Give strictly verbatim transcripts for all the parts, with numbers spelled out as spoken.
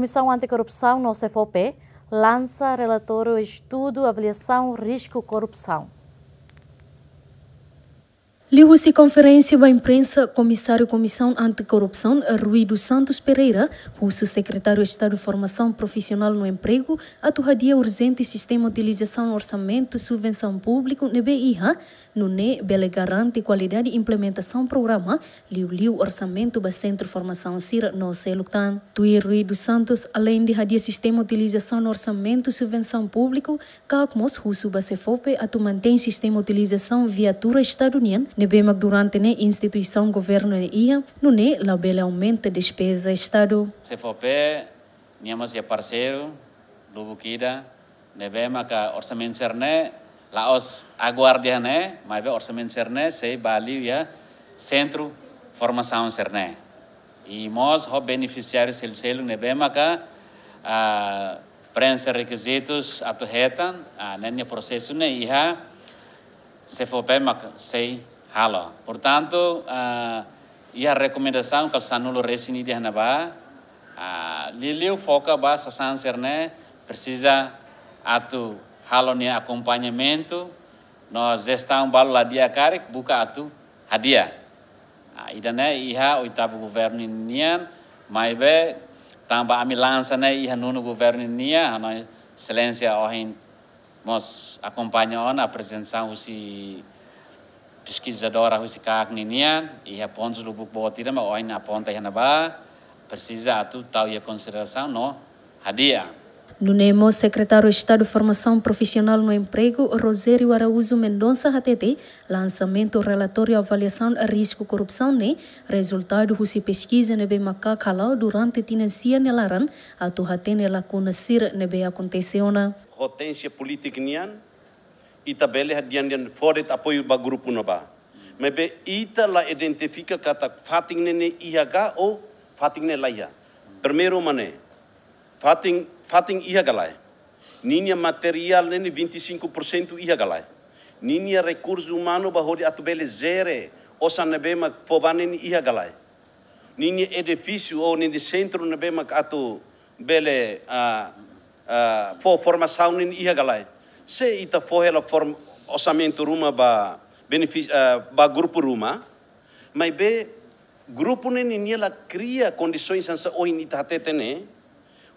Komisaun Antikorrupsaun no SEFOPE lansa relatóriu estudu avaliasaun risku korrupsaun. Liuhusi konferénsia ba imprensa, Komisáriu Komisaun Antikorrupsaun, Rui dos Santos Pereira, husu Sekretáriu Estadu Formasaun Profisionál no Empregu, atu hadi'a urjente sistema utilizasaun orsamentu subvensaun públiku ne'ebé iha, nune'e bele garante kualidade implementasaun programa, liuliu orsamentu ba sentru formasaun sira no seluk tan. Tuir Rui dos Santos, aleinde hadi'a sistema utilizasaun orsamentu subvensaun públiku, kaak mós husu ba SEFOPE atu mantein sistema utilizasaun viatura Estadu nian, ne'ebé mak durante ne'e instituisaun governu ne'e iha, nune'e labele aumenta despeza Estadu. SEFOPE, nia mós iha parseiru lubuk ida, ne'ebé maka orsamentu sira-ne'e la'ós aguarda ne'e, maibé orsamentu sira-ne'e sei ba liu iha sentru formasaun sira-ne'e. I mós ho benefisiáriu seluk-seluk ne'ebé maka, ah, preenxe rekizitus atu hetan, ah, ne'e nia prosesu ne'e iha SEFOPE mak sei halo. Portantu, ah, iha rekomendasaun kala sanulu resin ida iha ne'ebá, ah, liuliu foka ba sasán sira-ne'e presiza atu halo nia akompañamentu, no jestaun balu la di'ak karik buka atu hadi'a. Ah, ida-ne'e iha oitavu governu nian, maibé tanba ami lansa ne'e iha nonu governu nian, ha'u-nia Exelénsia ohin mós akompaña ona aprezentasaun husi peskizadora husi kaak ninian, iha pontus lubuk boot ida mak ohin aponta iha ne'ebá, presiza atu tau iha konsiderasaun no hadi'a. Nune'e mós Sekretáriu Estadu Formasaun Profisionál no Empregu, Rogério Araújo Mendonça hatete, lansamentu relatóriu avaliasaun risku korrupsaun ne'e rezultadu husi peskiza ne'ebé mak kaak hala'o durante tinan sia nia laran, atu hatene lakuna sira ne'ebé akontese ona. Potentiál polítika nian, ita bele hadi'a dehan fó de'it apoiu ba grupu ne'ebá. Maibé ita la identifika katak fatin ne'e iha ka ou fatin ne'e la iha. Primeiru mak ne'e, fatin, fatin iha ka lae. Ninia materiál ne'e vinte e cinco por cento iha ka lae. Ninia rekursu umanu ba hodi atu bele jere osan ne'ebé mak fó ba ne'e iha ka lae. Ninia edifísiu ou ninia sentru ne'ebé mak atu bele, ah, ah, fó formasaun ne'e iha ka lae. Se ita fó hela form-, orsamentu ruma ba benefis-, ah, ba grupu ruma, maibé grupu ne'e ninia la kria kondisoens hanesan ohin ita hatete ne'e,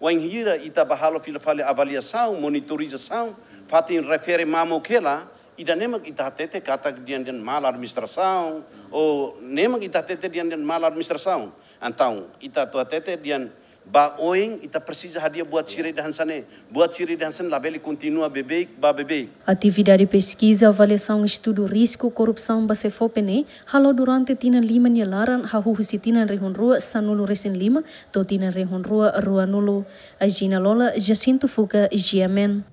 wainhira ita ba halo fila fali avaliasaun, monitorizasaun, fatin refere mamuk hela, ida-ne'e mak ita hatete katak dehan dehan mal administrasaun, ou ne'e mak ita hatete dehan dehan mal administrasaun. Entaun, ita atu hatete dehan ba oin, ita presiza hadi'a buat sira ida hanesan ne'e, buat sira ida hanesan ne'e labele kontinua beibeik, ba beibeik. Atividade peskiza avaliasaun estudu risku korrupsaun ba SEFOPE ne'e hala'o durante tinan lima nia laran, hahú husi tinan rihun rua sanulu resin lima to'o tinan rihun rua ruanulu. Agina Lola, Jacinto Fuca, G M N.